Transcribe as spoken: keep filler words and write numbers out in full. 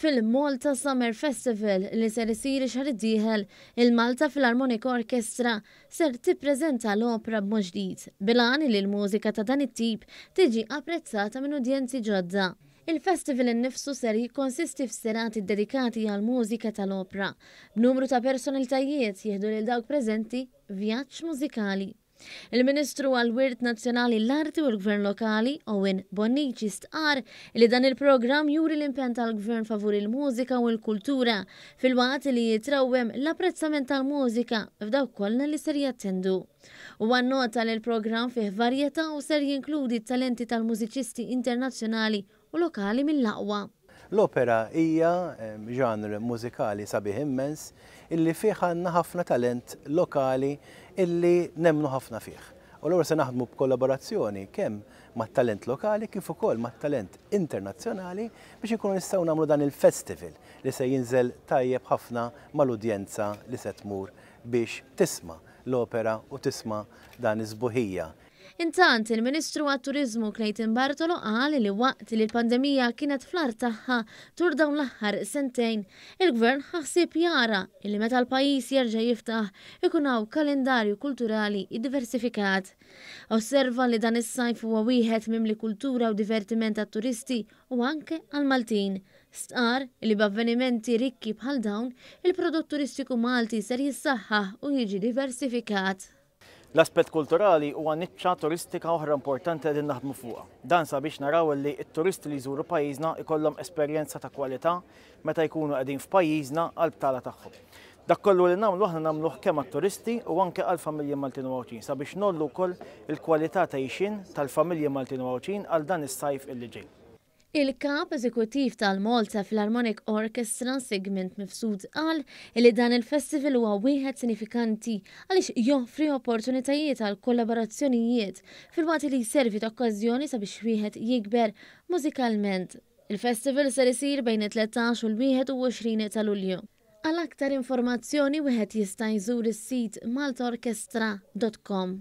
Fil-Malta Summer Festival li ser isir xahar id-dieħel, il-Malta Philharmonic Orchestra ser tippreżenta l-opra b'mod ġdid, bil-għan li l-mużika ta' dan it-tip tiġi apprezzata minn udjenzi ġodda. Il-festival innifsu ser jikkonsisti f'serati dedikati għal mużika tal-opra, b'numru ta' personalitajiet jieħdu lil dawk preżenti vjaġġ mużikali. Il-Ministru għal-Wirt Nazzjonali, l-Arti u l-Gvern Lokali, Owen Bonnici, stqar li dan il-programm juri l-impenn tal-Gvern favur il-mużika u l-kultura, filwaqt li jitrawwem l-apprezzament tal-mużika f'dawk kollha li ser jattendu. U nota li l-programm fih varjetà u ser jinkludi talenti tal-mużiċisti internazzjonali u lokali mill-aqwa. L-opera hija ġanr mużikali sabiħ immens illi fih għandna ħafna talent lokali illi nemmnu ħafna fih. U l se naħdmu b'kollaborazzjoni kemm mat-talent lokali kif ukoll mat-talent internazzjonali biex inkunu nistgħu nagħmlu dan il-festival li se jinżel tajjeb ħafna mal-udjenza li se tmur biex tisma' l-opera u tisma' dan iż-sbuħija. Intant, il-Ministru għat-Turizmu Clayton Bartolo qal li waqt li l-pandemija kienet fl-agħar tagħha tul dawn l-aħħar sentejn, il-Gvern ħa ħsieb jara li meta l-pajjiż jerġa' jiftaħ ikun hawn kalendarju kulturali diversifikat. Osserva li dan is-sajf huwa wieħed mimli kultura u divertiment għat-turisti u anke għal-Maltin. Stqar li b'avvenimenti rikki bħal dawn, il-prodott turistiku Malti ser jissaħħaħ u jiġi diversifikat. L-aspett kulturali huwa niċċa turistika oħra importanti qegħdin naħdmu fuqha. Dan sabiex naraw li t-turisti li jżuru pajjiżna ikollhom esperjenza ta' kwalità meta jkunu qegħdin f'pajjiżna għal btala tagħhom. Dak kollu li nagħmlu aħna nagħmluh kemm għat-turisti u anke għal familji Maltin u Għawdxin sabiex ngħollu wkoll il-kwalità ta' għixien tal-familji Maltin u Għawdxin għal dan is-sajf illi ġej. Il-kap eżekuttiv tal-Malta Philharmonic Orchestra, Sigmund Mifsud, qal li dan il-festival huwa wieħed sinifikanti għaliex joffri opportunitajiet għal kollaborazzjonijiet, filwaqt li jservi ta' okkażjoni sabiex wieħed jikber mużikalment. Il-festival ser isir bejn it-tlettax u l-wieħed u għoxrin ta' Lulju. Għal aktar informazzjoni wieħed jista' jżur is-sit maltaorchestra dot com.